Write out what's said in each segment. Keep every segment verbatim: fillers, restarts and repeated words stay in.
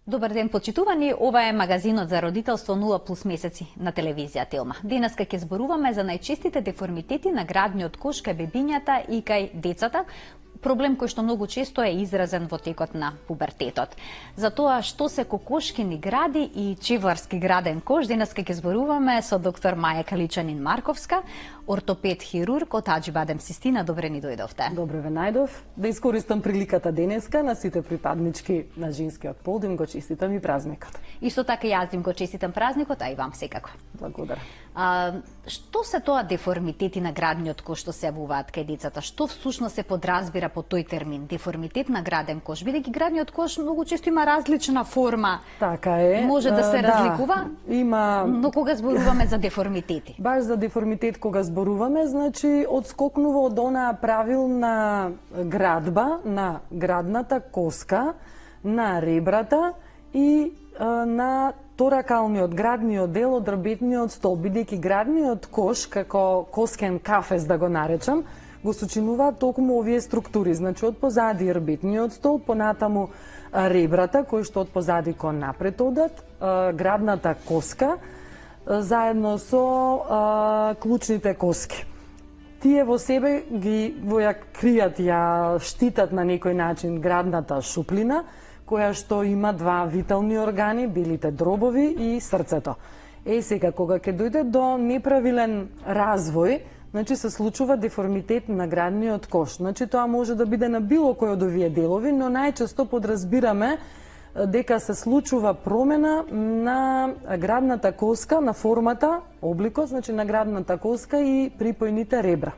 Добар ден, почитувани. Ова е магазинот за родителство нула плюс месеци на телевизија Телма. Денеска ќе зборуваме за најчестите деформитети на градниот кош кај бебињата и кај децата, проблем кој што многу често е изразен во текот на пубертетот. За тоа што се кокошкини гради и чевларски граден кош, денеска ќе зборуваме со доктор Маја Каличанин-Марковска, ортопед хирург од Аџибадем Систина. Добре ни дојдовте. Добре ве најдов. Да искористам приликата денеска на сите припаднички на женскиот пол да им го честитам и празникот. Исто така јас им го честитам празникот, а и вам секако. Благодарам. А, што се тоа деформитети на градниот кош што се јавуваат кај децата? Што всушност се подразбира по тој термин, деформитет на граден кош? Бидејќи градниот кош многу често има различна форма. Така е. Може да се разликува, да, има... но кога зборуваме за деформитети? Баш за деформитет кога зборуваме, значи одскокнува од онаа правилна градба на градната коска, на ребрата и а, на торакалниот градниот дел од рбетниот столб, бидејќи градниот кош, како коскен кафез да го наречам, го сочинуваат токму овие структури, значи од позади рбетниот столб, понатаму ребрата кои што од позади кон напред одат, градната коска заедно со а, клучните коски. Тие во себе ги во ја кријат, ја штитат на некој начин градната шуплина, која што има два витални органи, белите дробови и срцето. Е, сега, кога ќе дојде до неправилен развој, значи се случува деформитет на градниот кош. Значи тоа може да биде на било кој од овие делови, но најчесто подразбираме дека се случува промена на градната коска, на формата, обликот, значи на градната коска и припојните ребра.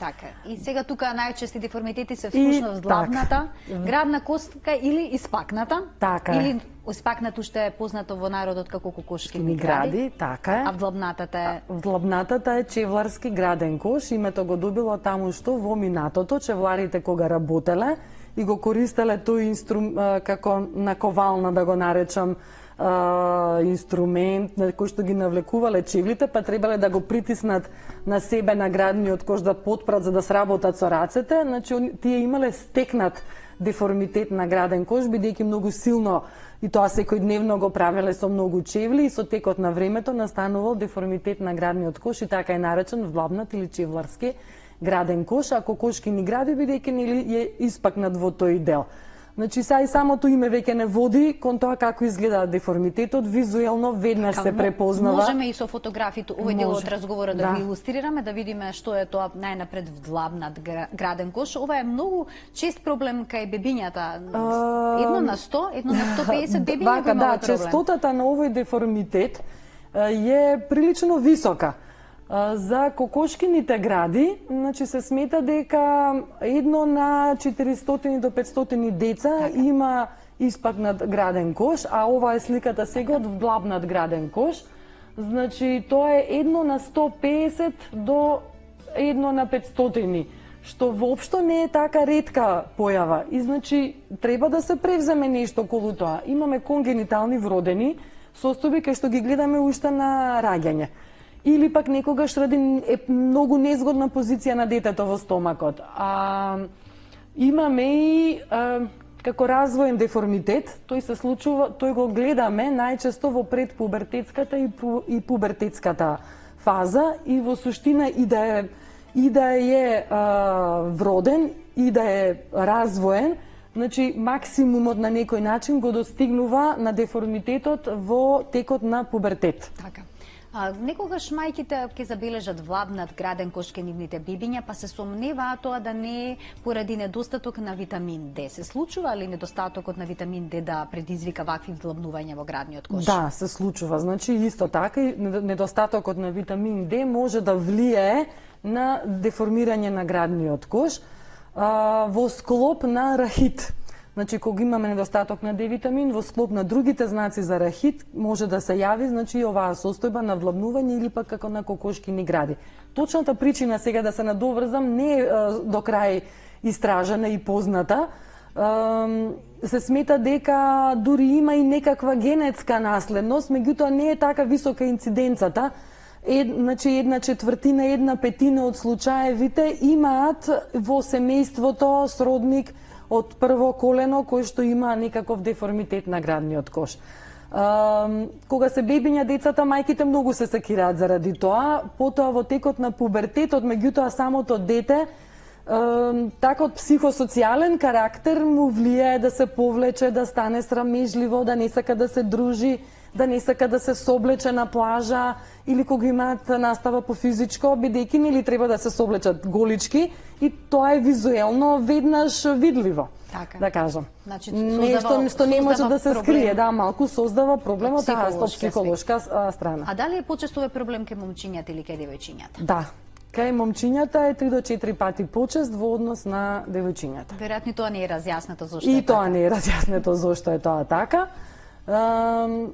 Така. И сега тука најчести деформитети се всушност длабната, градна коска или испакната. Така е. Или испакнато што е познато во народот како кокошкини гради. гради. Така е. А вдлабнатата е? Вдлабнатата е чевларски граден кош. Името го добило таму што во минатото чевларите кога работеле и го користеле тој инструм како наковална, да го наречам, Uh, инструмент на кој што ги навлекувале чевлите, па требале да го притиснат на себе на градниот кош да потпрат за да сработат со рацете, значи тие имале стекнат деформитет на граден кош, бидејќи многу силно и тоа секојдневно го правеле со многу чевли и со текот на времето настанувал деформитет на градниот кош и така е наречен вдлабнат или чевларски граден кош, а кокошкини гради бидејќи нели е испакнат во тој дел. Значи, са и самото име веќе не води кон тоа како изгледа деформитетот, визуелно веднаш се препознава. Можеме и со фотографите овој дел од разговорот да, да го илустрираме, да видиме што е тоа најнапред вдлабнат граден кош. Ова е многу чест проблем кај бебињата. Едно на сто, едно на сто педесет бебиња го има да, овој проблем. честотата на овој деформитет е прилично висока. За кокошкините гради, значи се смета дека едно на четиристотини до петстотини деца така има испакнат граден кош, а ова е сликата сега од вдлабнат граден кош. Значи тоа е едно на сто педесет до едно на петстотини, што воопшто не е така ретка појава. И значи треба да се превземе нешто околу тоа. Имаме конгенитални вродени состојби кај што ги гледаме уште на раѓање. Или пак некогаш ради е многу незгодна позиција на детето во стомакот. А, имаме и а, како развоен деформитет, тој се случува, тој го гледаме најчесто во предпубертетската и, пу, и пубертетската фаза и во суштина и да е и да е а, вроден и да е развоен, значи максимумот на некој начин го достигнува на деформитетот во текот на пубертет. Така. А, некогаш мајките ќе забележат вдлабнат граден кош кај нивните бебиња, па се сомневаат тоа да не е поради недостаток на витамин Д. Се случува ли недостатокот на витамин Д да предизвика вакви вдлабнувања во градниот кош? Да, се случува. Значи исто така и недостатокот на витамин Д може да влијае на деформирање на градниот кош а, во склоп на рахит. Значи, кога имаме недостаток на Д витамин, во склоп на другите знаци за рахит, може да се јави, значи, оваа состојба на вдлабнување или пак како на кокошкини гради. Точната причина, сега да се надоврзам, не е до крај истражена и позната. Се смета дека дури има и некаква генетска наследност, меѓутоа не е така висока инциденцата. Ед, значи, една четвртина, една петина од случаевите имаат во семејството сродник од прво колено кој што има некаков деформитет на градниот кош. Uh, кога се бебиња децата, мајките многу се секираат заради тоа, потоа во текот на пубертетот, меѓутоа самото дете uh, такот психосоцијален карактер му влијае да се повлече, да стане срамежливо, да не сака да се дружи, да не сака да се соблече на плажа или кога имаат настава по физичко, бидејќи нели треба да се соблечат голички и тоа е визуелно веднаш видливо. Така. Да кажам. Значи, нешто што не може да се проблем. скрие, да, малку создава проблем од таа психолошка страна. А дали е почесто е проблем кај момчињата или кај девојчињата? Да. Кај момчињата е три до четири пати почест во однос на девојчињата. Веројатно тоа не е разјаснето зошто и е така. И тоа не е разјаснето зошто е тоа така.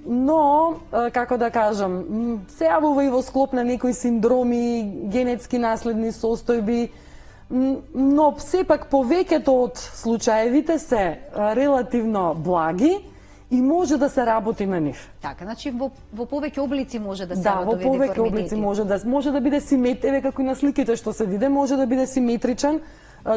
Но, како да кажам, се јавува и во склоп на некои синдроми, генетски наследни состојби, но сепак повеќето од случаевите се релативно благи и може да се работи на нив. Така, значи во, во повеќе облици може да се Да, во повеќе облици може да може да биде симетричен, како и на сликите што се виде, може да биде симетричен.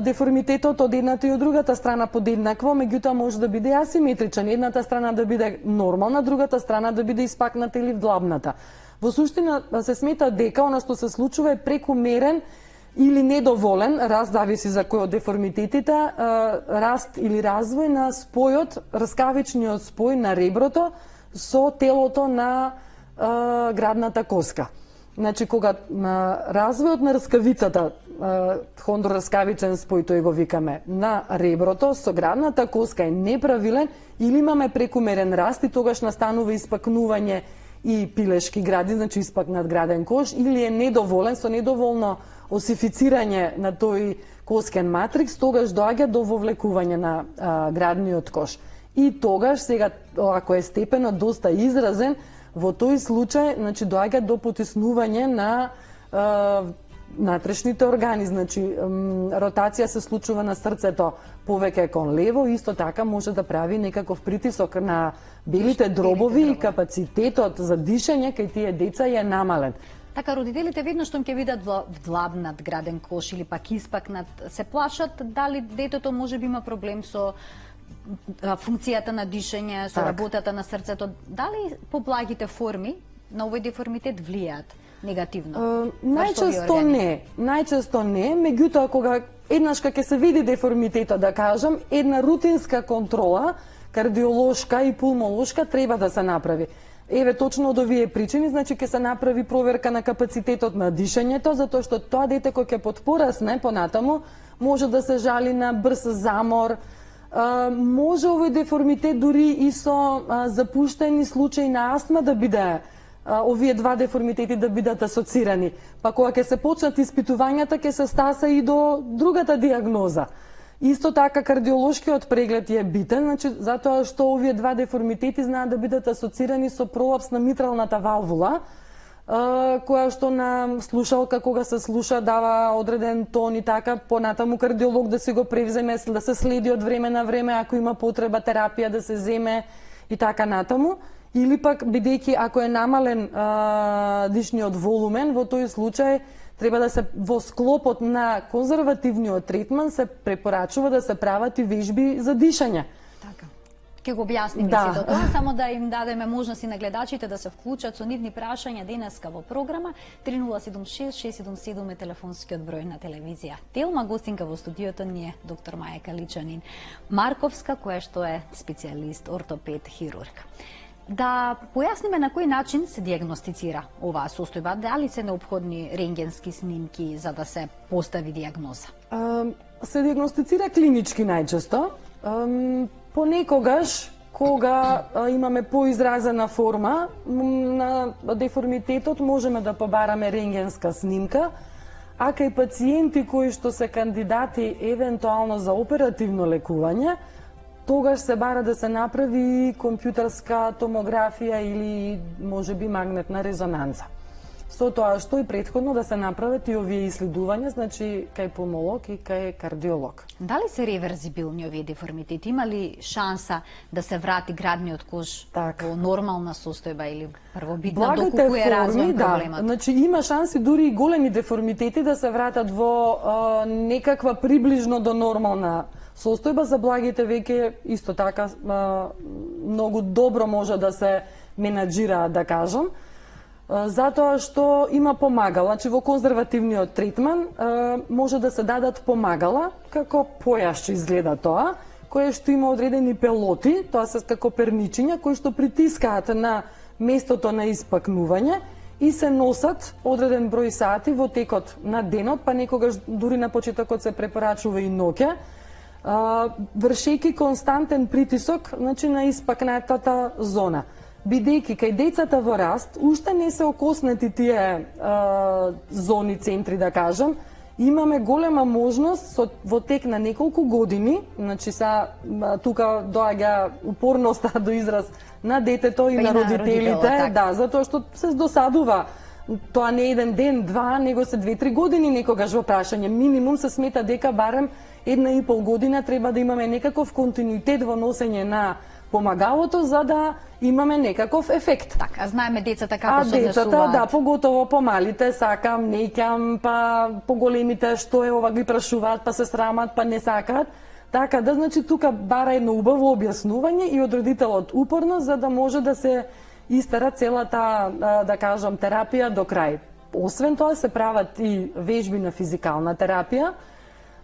Деформитетот од едната и од другата страна подеднакво, меѓутоа може да биде асиметричен. Едната страна да биде нормална, другата страна да биде испакната или вдлабната. Во суштина се смета дека она што се случува е прекумерен или недоволен, раст зависи за кој од деформитетите, раст или развој на спојот, раскавичниот спој на реброто со телото на градната коска. Значи, кога развојот на раскавицата, хондрораскавичен спој, тој го викаме, на реброто со градната коска е неправилен или имаме прекумерен раст и тогаш настанува испакнување и пилешки гради, значи испакнат граден кош, или е недоволен со недоволно осифицирање на тој коскен матрикс, тогаш доаѓа до вовлекување на а, градниот кош. И тогаш, сега, ако е степенот доста изразен, во тој случај, значи, доаѓа до потиснување на а, натрешните органи, значи, ротација се случува на срцето повеќе кон лево, исто така може да прави некаков притисок на белите дробови и капацитетот за дишење кај тие деца е намален. Така, родителите веднаш што ќе видат вдлабнат граден кош или пак испакнат, се плашат дали детето може би има проблем со функцијата на дишење, со так. работата на срцето. Дали поблагите форми на овој деформитет влијаат негативно? Uh, најчесто не, најчесто не, меѓутоа кога еднаш кога ќе се види деформитетот, да кажам, една рутинска контрола, кардиолошка и пулмолошка треба да се направи. Еве, точно од овие причини, значи ќе се направи проверка на капацитетот на дишењето, затоа што тоа дете кој ќе потпорасне понатаму, може да се жали на брз замор, а, може овој деформитет дури и со а, запуштени случаи на астма да биде, а, овие два деформитети да бидат асоцирани. Па кога ќе се почнат испитувањата, ќе се стаса и до другата диагноза. Исто така кардиолошкиот преглед е битен, значи затоа што овие два деформитети знаат да бидат асоцирани со пролапс на митралната валвула, која што на слушалка кога се слуша дава одреден тон и така, понатаму кардиолог да се го превземе, да се следи од време на време ако има потреба терапија да се земе и така натаму. Или пак бидејќи ако е намален а, дишниот волумен, во тој случај треба да се во склопот на конзервативниот третман се препорачува да се прават и вежби за дишање. Така. Ке го објасниме да. сето тоа, само да им дадеме можност и на гледачите да се вклучат со нивни прашања денеска во програма. три нула седум шест шест седум седум е телефонскиот број на телевизија Телма. Гостинка во студиото ни е доктор Маја Каличанин Марковска, која што е специјалист, ортопед, хирург. Да појасниме на кој начин се диагностицира оваа состојба, дали се неопходни рентгенски снимки за да се постави диагноза? А, се диагностицира клинички најчесто. А, понекогаш, кога а, имаме поизразена форма на деформитетот, можеме да побараме рентгенска снимка, а кај пациенти кои што се кандидати евентуално за оперативно лекување, тогаш се бара да се направи компјутерска томографија или можеби магнетна резонанца. Со тоа што и претходно да се направат и овие иследувања, значи кај пулмолог и кај кардиолог. Дали се реверзибилни овие деформитети? Има ли шанса да се врати градниот кош так. во нормална состојба или првобитна, доколку е развоен проблемот? Да, значи има шанси дури и големи деформитети да се вратат во а, некаква приближно до нормална состојба. За благите веќе исто така многу добро може да се менаџира, да кажам, затоа што има помагала. Значи во конзервативниот третман може да се дадат помагала, како појашче изгледа тоа, кое што има одредени пелоти, тоа се како перничиња, кои што притискаат на местото на испакнување и се носат одреден број сати во текот на денот, па некогаш дури на почетокот се препорачува и ноќе, вршејќи константен притисок, значи, на испакнатата зона. Бидејќи кај децата во раст уште не се окоснати тие а, зони, центри, да кажам, имаме голема можност со, во тек на неколку години, значи са тука доаѓа упорноста до израз на детето и, па на, на родителите, да, затоа што се досадува. Тоа не е еден ден, два, него се две-три години некогаш во прашање. Минимум се смета дека барем една и пол година треба да имаме некаков континуитет во носење на помагалото, за да имаме некаков ефект. Така, знаеме децата како се однесуваат. А децата, да, поготово помалите, сакам, неќам, па поголемите што е ова ги прашуваат, па се срамат, па не сакаат. Така да, значи, тука бара едно убаво објаснување и од родителот упорно, за да може да се истера целата, да кажам, терапија до крај. Освен тоа се прават и вежби на физикална терапија,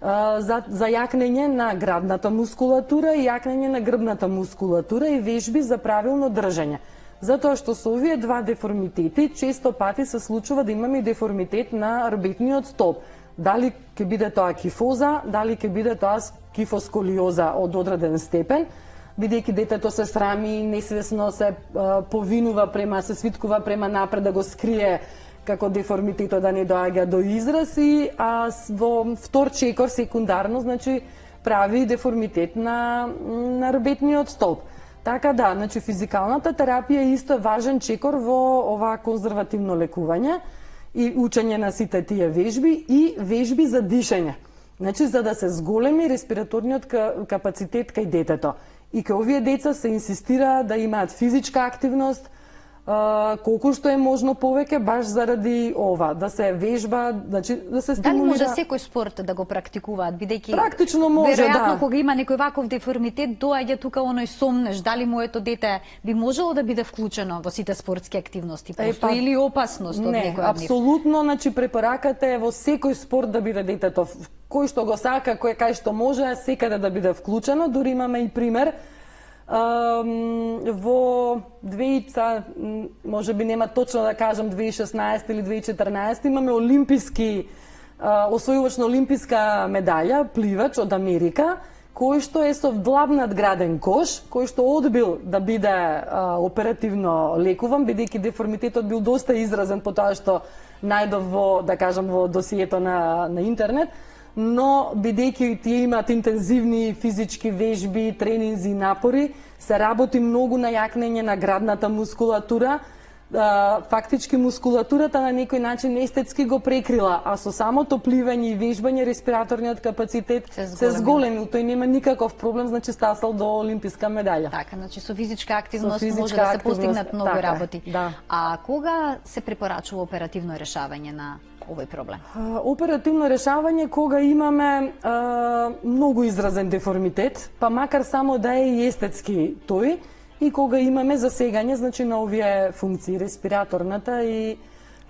за, за јакнење на градната мускулатура и јакнење на грбната мускулатура и вежби за правилно држање. Затоа што со овие два деформитети често пати се случува да имаме деформитет на рбетниот столб. Дали ќе биде тоа кифоза, дали ќе биде тоа кифосколиоза од одреден степен, бидејќи детето се срами, несвесно се а, повинува према, се свиткува према напред да го скрие како деформитетот да не доаѓа до израз и а, во втор чекор секундарно, значи, прави деформитет на, на рбетниот столб. Така да, значи, физикалната терапија исто е важен чекор во ова конзервативно лекување и учење на сите тие вежби и вежби за дишење. Значи, за да се зголеми респираторниот капацитет кај детето. И кај овие деца се инсистира да имаат физичка активност, Uh, колку што е можно повеќе, баш заради ова, да се вежба, значи, да се стимулира. Дали може секој спорт да го практикуваат, бидејќи практично може, веројатно да. Кога има некој ваков деформитет, доаѓа тука оној сомнеш, дали моето дете би можело да биде вклучено во сите спортски активности, постои или опасност од не, некој од нив? апсолутно, значи препораката е во секој спорт да биде детето, кој што го сака, кој кај што може, секаде да биде вклучено. Дури имаме и пример во две може би нема точно да кажам две тисачи и шеснаесета или две тисачи и четрнаесета имаме олимписки освојувач на олимписка медаља, пливач од Америка, кој што е со вдлабнат граден кош, кој што одбил да биде а, оперативно лекуван, бидејќи деформитетот бил доста изразен по тоа што најдов во, да кажам, во досието на, на интернет, но бидејќи тие имаат интензивни физички вежби, тренинзи и напори, се работи многу на јакнење на градната мускулатура. Фактички мускулатурата на некој начин естетски го прекрила, а со самото пливање и вежбање респираторниот капацитет се, се зголемил. Тој нема никаков проблем, значи стасал до олимписка медаља. Така, значи со физичка активност со физичка може да се активност, постигнат многу така, работи. Да. А кога се препорачува оперативно решавање на овој проблем? А, оперативно решавање кога имаме а, многу изразен деформитет, па макар само да е и естетски тој, и кога имаме засегање, значи, на овие функции, респираторната и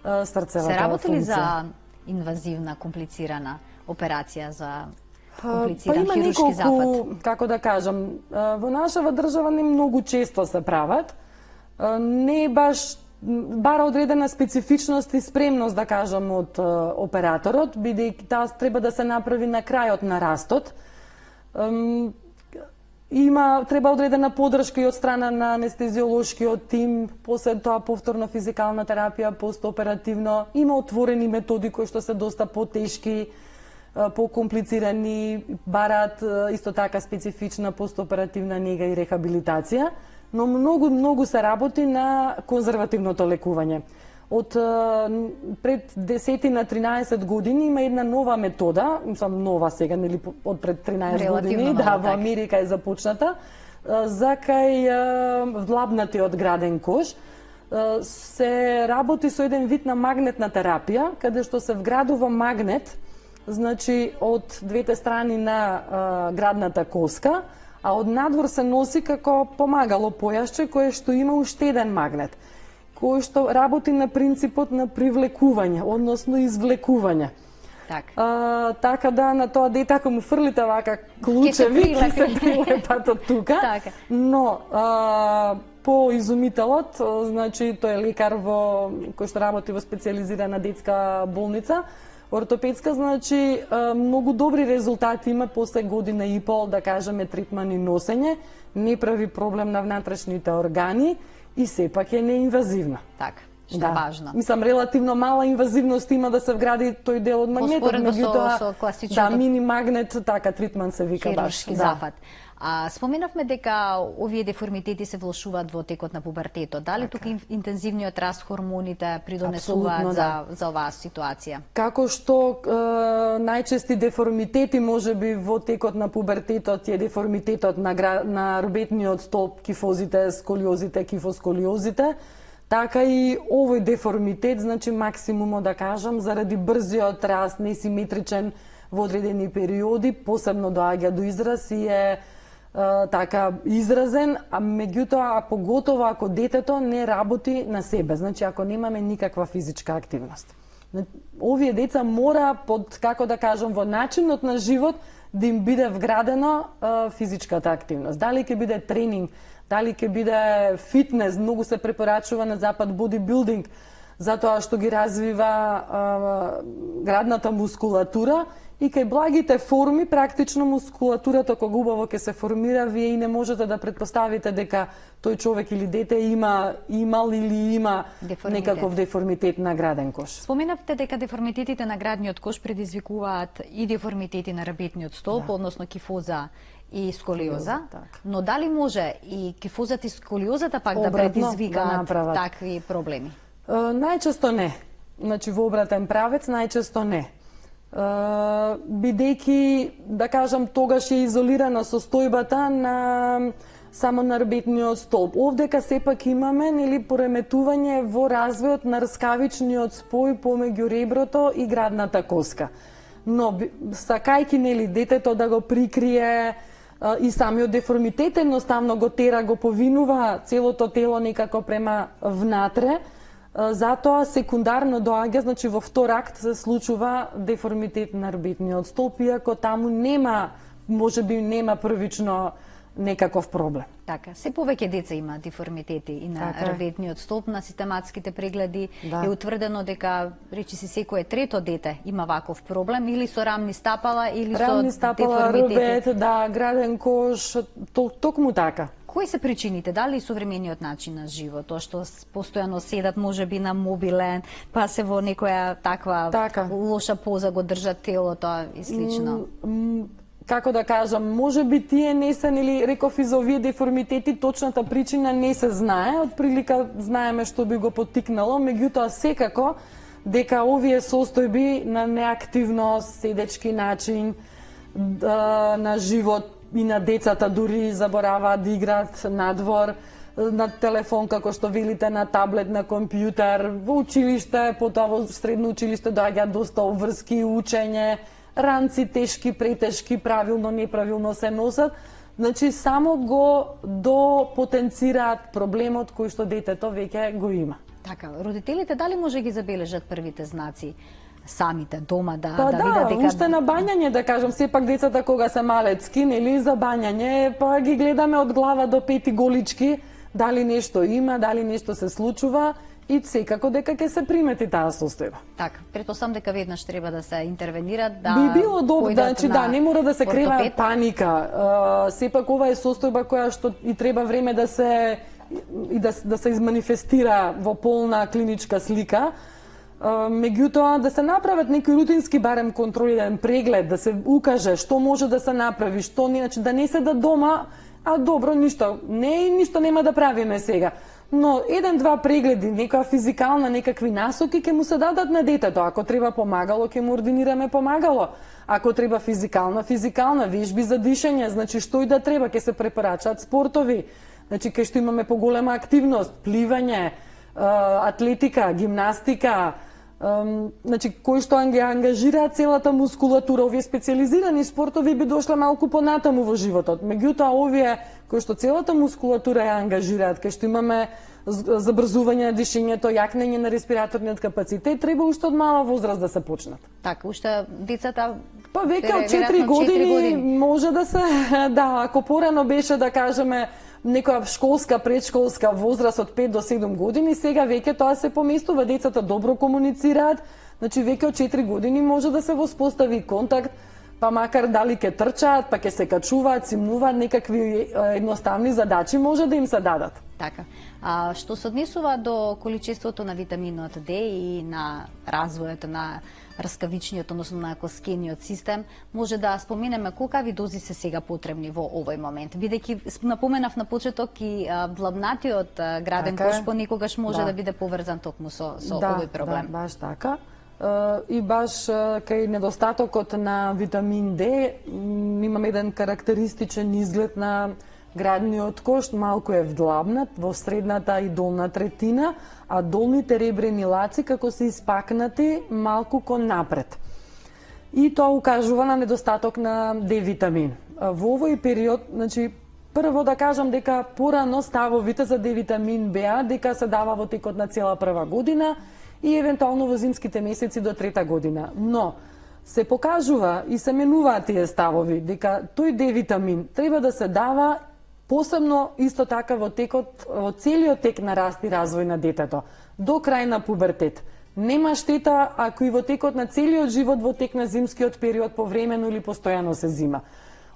а, срцевата функција. Се работи ли за инвазивна, комплицирана операција, за комплициран па хируршки неколку, зафат? како да кажам, во нашава држава не многу често се прават. Не баш бара одредена специфичност и спремност, да кажам, од операторот, бидејќи таа треба да се направи на крајот на растот. Има, треба одредена подршка и од страна на анестезиолошкиот тим, после тоа повторно физикална терапија, постоперативно. Има отворени методи кои што се доста потешки, покомплицирани, бараат исто така специфична постоперативна нега и рехабилитација, но многу, многу се работи на конзервативното лекување. Од пред десет на тринаесет години има една нова метода, мислам нова сега, нели од пред тринаесет години, да, во Америка е започната, за кај вдлабнатиот граден кош. Се работи со еден вид на магнетна терапија, каде што се вградува магнет значи од двете страни на а, градната коска, а од надвор се носи како помагало појасче кое што има уште еден магнет, кој што работи на принципот на привлекување, односно извлекување. Так. А, така да на тоа дете ако му фрлите вака клучеви, ќе се прилепат од тука. Така. Но а, по изумителот, значи тој е лекар во кој што работи во специјализирана детска болница, ортопедска, значи многу добри резултати има после година и пол, да кажеме, третман и носење, не прави проблем на внатрешните органи и сепак е неинвазивна. Така. Што да. е важно. Мислам, релативно мала инвазивност има да се вгради тој дел од магнетот, меѓутоа со, со класичното да, мини магнет, така тритман се вика баш. Хируршки зафат. А, споменавме дека овие деформитети се влошуваат во текот на пубертетот. Дали така. Тука интензивниот раст хормоните придонесуваат за, да. за оваа ситуација? Како што е, најчести деформитети можеби во текот на пубертетот е деформитетот на, на рубетниот столб, кифозите, сколиозите, кифосколиозите, така и овој деформитет, значи максимумот да кажам, заради брзиот раст, несиметричен во одредени периоди, посебно доаѓа до израз и е Uh, така изразен, а меѓутоа, а поготово ако детето не работи на себе, значи ако немаме никаква физичка активност. Овие деца мора под, како да кажам, во начинот на живот да им биде вградено uh, физичката активност. Дали ќе биде тренинг, дали ќе биде фитнес, многу се препорачува на запад бодибилдинг, затоа што ги развива uh, градната мускулатура. И кај благите форми, практично мускулатурата кога убаво ќе се формира, вие и не можете да предпоставите дека тој човек или дете има имал или има деформитет. Некаков деформитет на граден кош. Споменавте дека деформитетите на градниот кош предизвикуваат и деформитети на рабетниот столб, да. Односно кифоза и сколиоза, так. Но дали може и кифозата и сколиозата пак обратно, да предизвикаат да такви проблеми? Uh, најчесто не. Значи во обратен правец најчесто не. Uh, бидејќи, да кажам, тогаш е изолирана состојбата на само на рбетниот столб. Овдека сепак имаме, нели, пореметување во развојот на рскавичниот спој помеѓу реброто и градната коска. Но сакајќи, нели, детето да го прикрие uh, и самиот деформитет едноставно го тера, го повинува целото тело некако према внатре. Затоа секундарно доаѓа, значи во втор акт се случува деформитет на рбетниот столб, иако таму нема, можеби нема првично некаков проблем. Така, се повеќе деца има деформитети и на така. Рбетниот столб. На систематските прегледи да. Е утврдено дека речиси секое трето дете има ваков проблем или со рамни стапала или рамни со стапала, деформитети. Рбет, да, граден кош, токму така. Кои се причините? Дали современиот начин на живот, тоа што постојано седат можеби на мобилен, па се во некоја таква така. Лоша поза го држат телото и слично? М како да кажам, можеби тие не се, нели, реков и за овие деформитети, точната причина не се знае, од прилика знаеме што би го поттикнало, меѓутоа секако дека овие состојби на неактивност, седечки начин да, на живот и на децата дури забораваат да играат надвор, на телефон, како што велите, на таблет, на компјутер, во училиште, потоа во средно училиште доаѓаат доста обврски, учење, ранци тешки, претешки, правилно, неправилно се носат. Значи, само го допотенцираат проблемот кој што детето веќе го има. Така, родителите дали може ги забележат првите знаци? Самите дома да па да, да видат дека уште на бањање, да кажам, сепак децата кога се малецки, нели, за бањање, па ги гледаме од глава до пети голички, дали нешто има, дали нешто се случува и секако дека ќе се примети таа состојба. Така, претпоставам дека веднаш треба да се интервенира, да би било добро, значи да, не мора да се крена ортопед. Паника. Uh, сепак ова е состојба која што и треба време да се и да, да се изманифестира во полна клиничка слика. Меѓутоа, да се направат некои рутински барем контролиран преглед, да се укаже што може да се направи, што не, значи да не седат дома, а добро, ништо, не, ништо нема да правиме сега. Но еден-два прегледи, некоја физикална, некакви насоки ќе му се дадат на детето. Ако треба помагало, ќе му ординираме помагало. Ако треба физикална, физикална, вежби за дишење, значи што и да треба, ќе се препорачаат спортови. Значи кај што имаме поголема активност, пливање, атлетика, гимнастика, значи, кои што ги ангажираат целата мускулатура, овие специализирани спортови би дошле малку понатаму во животот. Меѓутоа, овие кои што целата мускулатура ја ангажираат, кај што имаме забрзување на дишењето, јакнење на респираторниот капацитет, треба уште од мала возраст да се почнат. Така, уште децата па веќе од четири години, години може да се, да, ако порано беше да кажеме некоја школска, предшколска возраст од пет до седум години, сега веќе тоа се поместува, децата добро комуницираат, значи веќе од четири години може да се воспостави контакт, па макар дали ќе трчаат, па ќе се качуваат, симнуваат, некакви едноставни задачи може да им се дадат. Така. А што се однесува до количеството на витаминот Д и на развојот на раскавичниот, односно на коскениот систем, може да споменеме колкави дози се сега потребни во овој момент. Бидејќи напоменав на почеток и длабнатиот граден така, кош понекогаш може да, да биде поврзан токму со, со да, овој проблем. Да, баш така. И баш кај недостатокот на витамин Д имаме еден карактеристичен изглед на градниот кош, малку е вдлабнат во средната и долна третина, а долните ребрени лаци како се испакнати малку кон напред. И тоа укажува на недостаток на Д витамин. Во овој период, значи, прво да кажам дека порано ставовите за Д витамин беа дека се дава во текот на цела прва година и евентуално во зимските месеци до трета година. Но се покажува и се менуваат тие ставови дека тој Д витамин треба да се дава посебно исто така во текот, во целиот тек на раст и развој на детето, до крај на пубертет. Нема штета ако и во текот на целиот живот, во тек на зимскиот период, повремено или постојано се зима.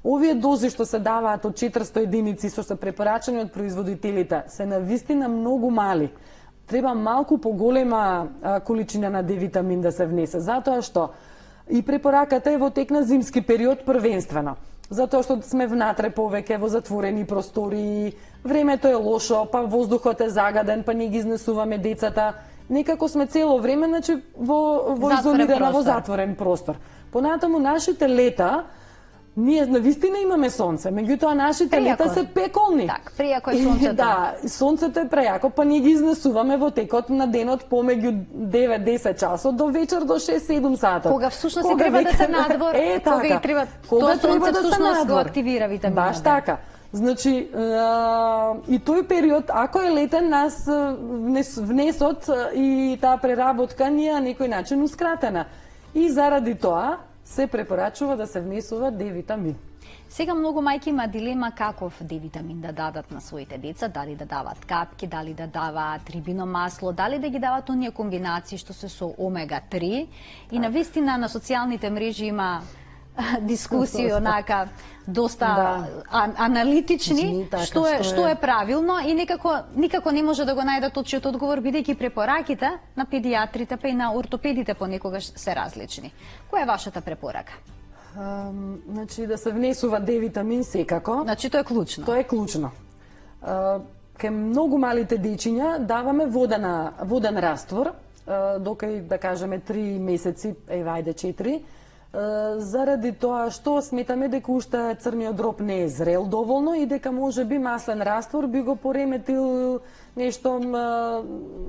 Овие дози што се даваат од четиристо единици, што се препорачани од производителите, се навистина многу мали. Треба малку поголема а, количина на Д витамин да се внесе, затоа што и препораката е во тек на зимски период првенствено. Затоа што сме внатре повеќе во затворени простори, времето е лошо, па воздухот е загаден, па не ги изнесуваме децата. Некако сме цело време, значи, во, во изолирана, во затворен простор. Понатаму нашите лета, ние навистина имаме сонце, меѓутоа нашите прејако лета се пеколни. Так, прејако е сонцето. И, да, сонцето е прејако, па ние ги изнесуваме во текот на денот помеѓу девет-десет часот до вечер до шест-седум сата. Кога всушност и треба века... да се надвор, е, така. Кога и треба, кога тоа сонце да всушност го активира витаминот. Баш така. Значи, а, и тој период, ако е летен, нас внес, внесот и таа преработка ни е на некој начин ускратена. И заради тоа се препорачува да се внесува Д витамин. Сега многу мајки има дилема каков Д витамин да дадат на своите деца, дали да дават капки, дали да дават рибино масло, дали да ги дават оние комбинации што се со омега три. И навистина на социјалните мрежи има дискусии онака доста да. а, аналитични, така, што е што е правилно и некако никако не може да го најдат точниот одговор, бидејќи препораките на педиатрите па и на ортопедите понекогаш се различни. Која е вашата препорака? Um, значи да се внесува Д витамин секако. Значи тоа е клучно. Тоа е клучно. Uh, Кај многу малите дечиња даваме водена воден раствор, uh, докај да кажеме три месеци, ева ајде четири. Заради тоа што сметаме дека уште црниот дроб не е зрел доволно и дека може би маслен раствор би го пореметил нешто а,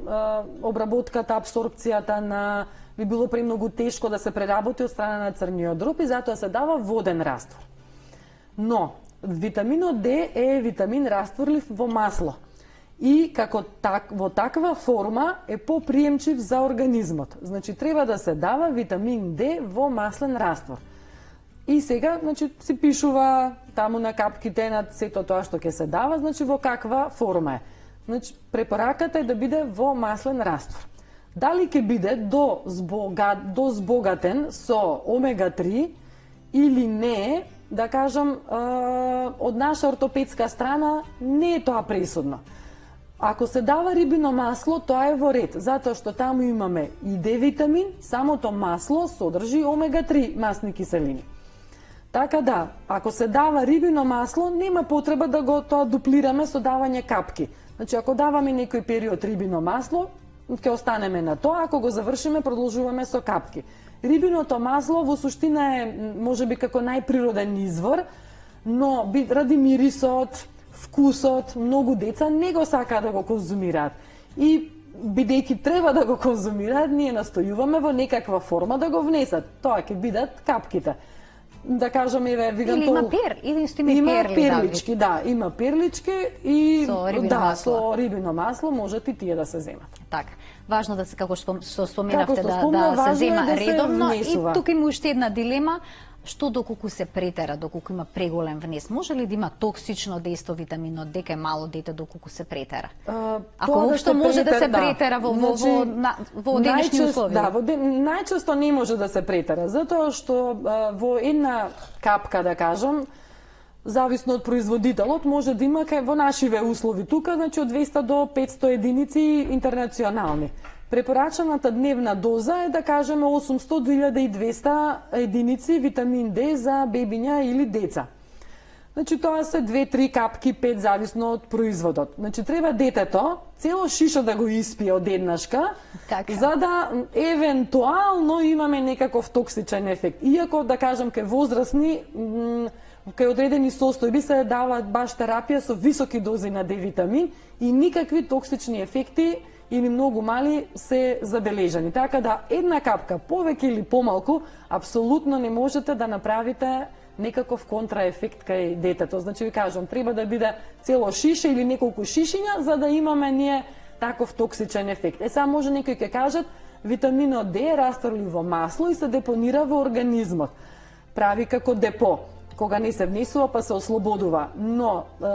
а, обработката, абсорбцијата на би било премногу тешко да се преработи од страна на црниот дроб и затоа се дава воден раствор. Но витаминот Д е витамин растворлив во масло. И како так, во таква форма е поприемчив за организмот. Значи треба да се дава витамин Д во маслен раствор. И сега, значи, се пишува таму на капките на сето тоа што ќе се дава, значи во каква форма е. Значи препораката е да биде во маслен раствор. Дали ќе биде до збога, до збогатен со омега три или не, да кажам, од наша ортопедска страна не е тоа пресудно. Ако се дава рибино масло, тоа е во ред, затоа што таму имаме и Д витамин, самото масло содржи омега три масни киселини. Така да, ако се дава рибино масло, нема потреба да го тоа дуплираме со давање капки. Значи, ако даваме некој период рибино масло, ќе останеме на тоа, ако го завршиме, продолжуваме со капки. Рибиното масло во суштина е, можеби како најприроден извор, но ради мирисот, вкусот, многу деца не го сакаат да го конзумираат. И бидејќи треба да го конзумираат, ние настојуваме во некаква форма да го внесат. Тоа ќе бидат капките. Да кажам, еве, вигам или тоа. има пер, или исто има, има перли, перлички, да, има перлички и со рибино да, масло. со рибино масло можат и тие да се земат. Така. Важно да се, како што споменавте, Како што да, спомна, да се важно е зема да се редовно. внесува. И тука има уште една дилема. Што доколку се претера, доколку има преголем внес, може ли да има токсично дејство витаминот Д кај мало дете доколку се претера? А, Ако тоа воопшто да може да се да. претера во, во, Значи, во, на, во денешни најчест- услови? Да, во ден, најчесто не може да се претера, затоа што а, во една капка, да кажам, зависно од производителот, може да има кај во нашиве услови тука, значи од двеста до петсто единици интернационални. Препорачаната дневна доза е, да кажеме, осумсто до илјада и двесте единици витамин Д за бебиња или деца. Значи тоа се две-три капки, пет, зависно од производот. Значи треба детето цело шишо да го испие од еднашка, Така. за да евентуално имаме некаков токсичен ефект. Иако, да кажам, кај возрастни, м, кај одредени состојби се даваат баш терапија со високи дози на Д витамин и никакви токсични ефекти или многу мали се забележани. Така да една капка повеќе или помалку апсолутно не можете да направите некаков контраефект кај детето. Значи ви кажам, треба да биде цело шише или неколку шишиња за да имаме ние таков токсичен ефект. Е сега може некои ќе кажат витаминот Д е растворлив во масло и се депонира во организмот. Прави како депо, кога не се внесува па се ослободува. Но е,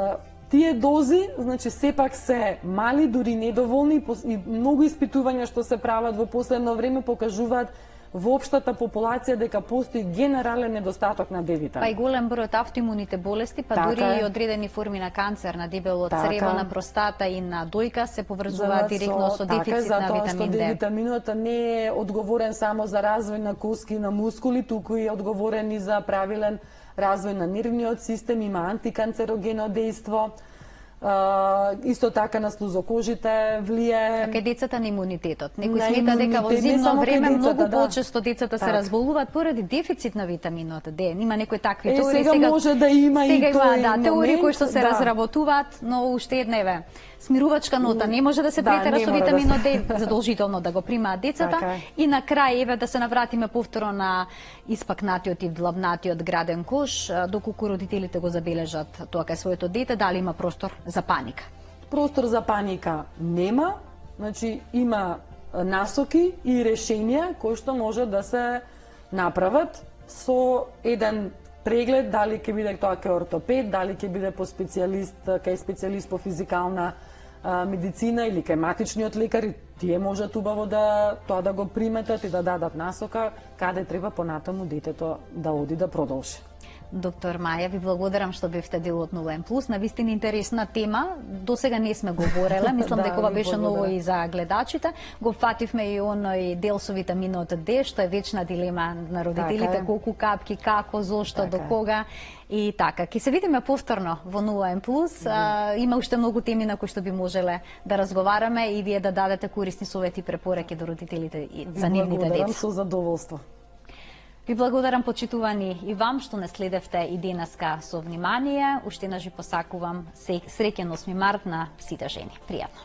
тие дози, значи сепак се мали, дури недоволни и многу испитувања што се прават во последно време покажуваат во општата популација дека постои генерален недостаток на Д витамин. Па и голем број од автоимуните болести, па Така дури е. и одредени форми на канцер, на дебело Така. црево, на простата и на дојка се поврзуваат директно со така е, дефицит на затоа што витамин Д Д. витаминот не е одговорен само за развој на коски и на мускули, туку и е одговорен и за правилен развој на нервниот систем, има антиканцерогено дејство. Uh, исто така на слузокожите влие. Кај децата на имунитетот. Некој На смета дека во имунитет, не зимно само кај време децата, многу да. почесто децата се Така. разболуваат поради дефицит на витаминот Д. Има некои такви Е, теории. сега може да има и сега има, тој да, теории момент, кои што се да. разработуваат, но уште една еве смирувачка нота. Не може да се Да, претера не со мора да витаминот се- Д, задолжително да го примаат децата. Така е. И на крај еве да се навратиме повторно на испакнатиот и длабнатиот граден кош, а, доколку родителите го забележат тоа кај своето дете, дали има простор за паника. Простор за паника нема, значи има насоки и решенија кои што може да се направат со еден преглед, дали ќе биде тоа кај ортопед, дали ќе биде по специјалист, кај специјалист по физикална а, медицина или кај матичниот лекар, и тие можат убаво да тоа да го приметат и да дадат насока каде треба понатаму детето да оди да продолжи. Доктор Маја, ви благодарам што бевте дел од Нова М плюс. Навистина интересна тема. До сега не сме говореле. Мислам Да, дека ова ви беше ново благодарам. и за гледачите. Го фативме и оној дел со витаминот Д, што е вечна дилема на родителите, Така е. колку капки, како, зошто, Така до е. кога. И така, ќе се видиме повторно во Нова М плюс. А, има уште многу теми на кои што би можеле да разговараме и вие да дадете корисни совети и препораки до родителите и за нивните Благодарам деца. со задоволство. Ви благодарам, почитувани и вам, што не следевте и денеска со внимание. Уште еднаш ви посакувам среќен осми март на сите жени. Пријатно.